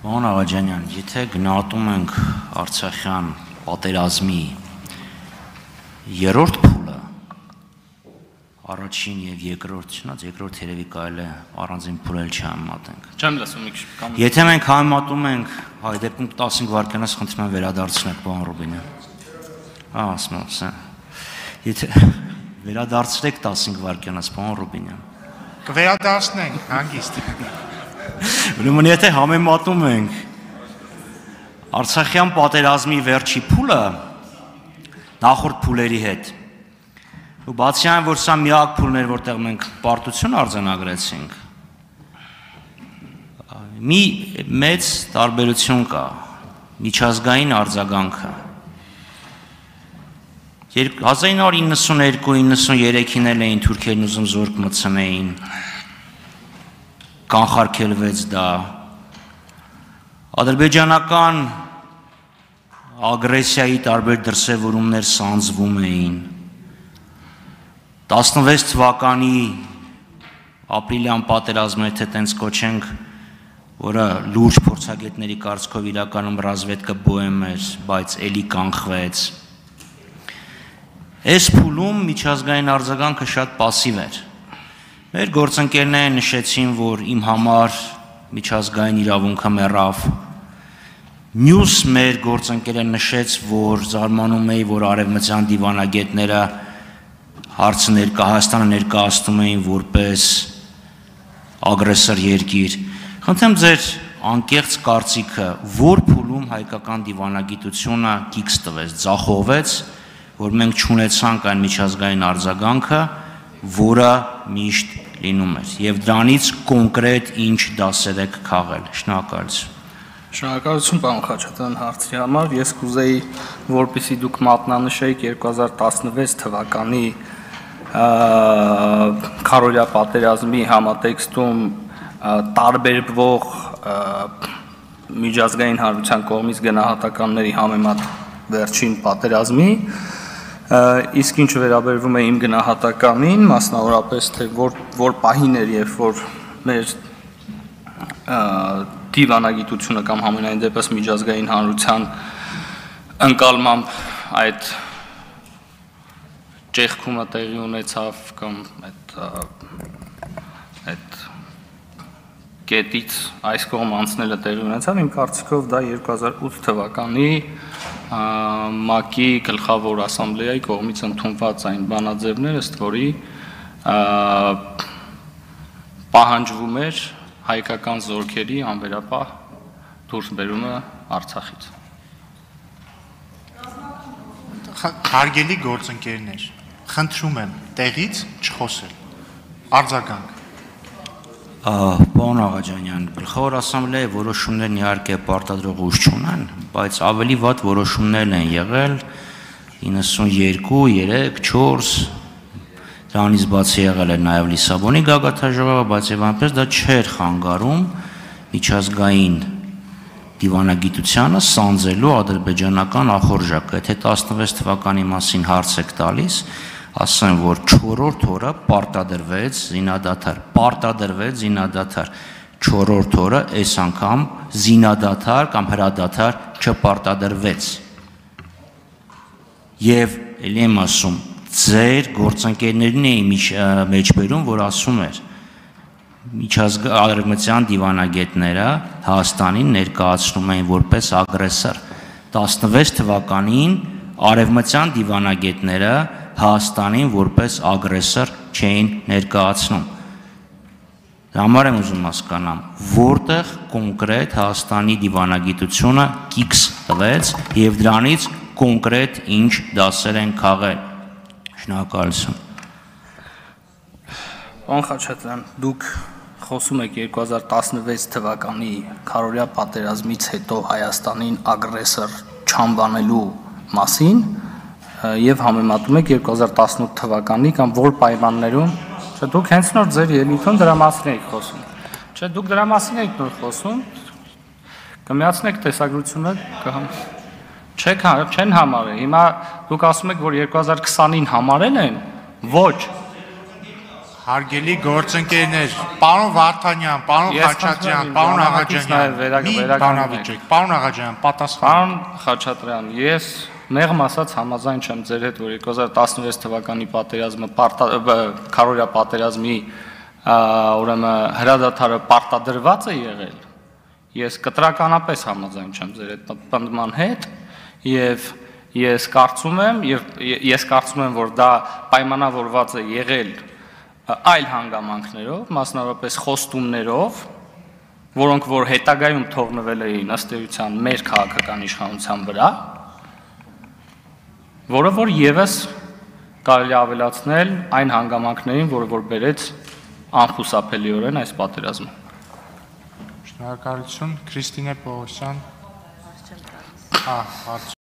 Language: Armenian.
Պարոն Աղաջանյան, եթե գնահատում ենք Արցախյան պատերազմի երրորդ փուլը, առաջին և երկրորդ, երկրորդ երևի կարելի է առանձին փուլել չհամեմատենք։ Չեմ լսում մի քիչ։ Եթե մենք համեմատում ենք, հայ դեպքում 15 վայրկյանից խնդրում եմ վերադարձնեք, պարոն Ռուբինյան։ Եթե վերադարձրեք 15 վայրկյանից, պարոն Ռուբինյան։ Կվերադարձնենք, հանգիստ։ Ուրեմն եթե համեմատում ենք Արցախյան պատերազմի վերջի փուլը նախորդ փուլերի հետ, ու բացի այն, որ սա միակ փուլն էր, որտեղ մենք պարտություն արձանագրեցինք, մի մեծ տարբերություն կա, միջազգային արձագանքը։ 1992-93-ին էլ էին թուրքերն ուզում զորք մտցնեին, կանխարգելվեց դա, ադրբեջանական ագրեսիայի տարբեր դրսևորումներ սանձվում էին, 16 թվականի ապրիլյան պատերազմը, եթե տենց կոչենք, որը լուրջ փորձագետների կարծիքով իրականում ռազմետկը բոհեմ էր, բայց էլի կանխվեց։ Այս փուլում միջազգային արձագանքը շատ պասիվ էր։ Մեր գործընկերները նշեցին, որ իմ համար միջազգային իրավունքը մեռավ։ Մյուս մեր գործընկերը նշեց, որ զարմանում էի, որ արևմտյան դիվանագետները հարցը Հայաստանը ներկայացնում էին որպես ագրեսոր երկիր։ Խնդրեմ ձեր անկեղծ կարծիքը, որ փուլում հայկական դիվանագիտությունը կիքս տվեց, ձախողվեց, որ մենք չունեցանք այն միջազգային արձագանքը, որը միշտ լինում էր, և դրանից կոնկրետ ինչ դասեր եք քաղել։ Շնորհակալություն։ Շնորհակալություն, պարոն Խաչատրյան, հարցի համար։ Ես կուզեի, որպեսզի դուք մատնանշեիք 2016 թվականի քարոզիա պատերազմի համատեքստում տարբերվող միջազգային հանրության կողմից գնահատականների համեմատ վերջին պատերազմի, իսկ ինչ վերաբերվում է իմ գնահատականին, մասնավորապես թե որ պահին էր, երբ որ մեր դիվանագիտությունը կամ համենայն դեպս միջազգային հանրության ընկալմամբ այդ ճեղքումը տեղի ունեցավ կամ այդ կետից այս կողմ անցնելը տեղի ունեցավ, իմ կարծիքով դա 2008 թվականի ՄԱԿ-ի գլխավոր ասամբլեայի կողմից ընդունված այն բանաձևներ, ըստ որի պահանջվում էր հայկական զորքերի անվերապահ դուրսբերումը Արցախից։ Հարգելի գործընկերներ, խնդրում եմ տեղից չխոսել, արձագանք։ Պարոն Աղաջանյան, գլխավոր ասամբլեայի որոշումներն իհարկե պարտադրող ուժ չունեն, բայց ավելի վատ որոշումներ են եղել 92, 3, 4, դրանից բացի եղել է նաև Լիսաբոնի գագաթնաժողովը, բայց եւ այնպես դա չէր խանգարում միջազգային դիվանագիտությանը սանձելու ադրբեջանական ախորժակը։ Եթե 16 թվականի մասին հարց եք տալիս, ասեմ, որ 4-րդ օրը պարտադրվեց զինադադար, 4-րդ օրը այս անգամ զինադադար կամ հրադադար չպարտադրվեց։ Եվ էլի եմ ասում, ձեր գործընկերներին էի մեջբերում, որ ասում էր արևմտյան դիվանագետները Հայաստանին ներկայացնում էին որպես ագրեսոր։ 16 թվականին արևմտյան դիվանագետները Հայաստանին որպես ագրեսոր չէին ներկայացնում։ Համար եմ ուզում հասկանամ, որտեղ կոնկրետ Հայաստանի դիվանագիտությունը կիքս տվեց և դրանից կոնկրետ ինչ դասեր են քաղել։ Շնորհակալություն։ Պարոն Խաչատրյան, դուք խոսում եք 2016 թվականի քարոզիա պատերազմից հետո Հայաստանին ագրեսոր չանվանելու մասին և համեմատում եք 2018 թվականի կամ որ պայմաններում, չէ, դուք հենց նոր ձեր ելույթում դրա մասին եք խոսում։ Չէ, դուք դրա մասին եք նոր խոսում, կմիացնեք տեսագրությունը, չեն համարել։ Հիմա դուք ասում եք, որ 2020-ին համարել են, ոչ։ Հարգելի գործընկերներ, պարոն Վարդանյան, պարոն Խաչատրյան, պարոն Աղաջանյան, պարոն Աղաջանյան, պատասխան։ Պարոն Խաչատրյան, ես մեղմ ասած համաձայն չեմ ձեր հետ, որ 2016 թվականի պատերազմը քարորիա պատերազմի ուրեմն հրադադարը պարտադրված է եղել։ Ես կտրականապես համաձայն չեմ ձեր հետ պնդման հետ եւ ես կարծում եմ, որ դա պայմանավորված է եղել այլ հանգամանքներով, մասնավորապես խոստումներով, որոնք որ հետագայում թողնվել էին ըստ էության մեր քաղաքական իշխանության վրա, որը որ եւս կարելի ավելացնել այն հանգամանքներին, որը որ բերեց անխուսափելիորեն այս պատերազմը։ Շնորհակալություն, Քրիստինե Պողոսյան։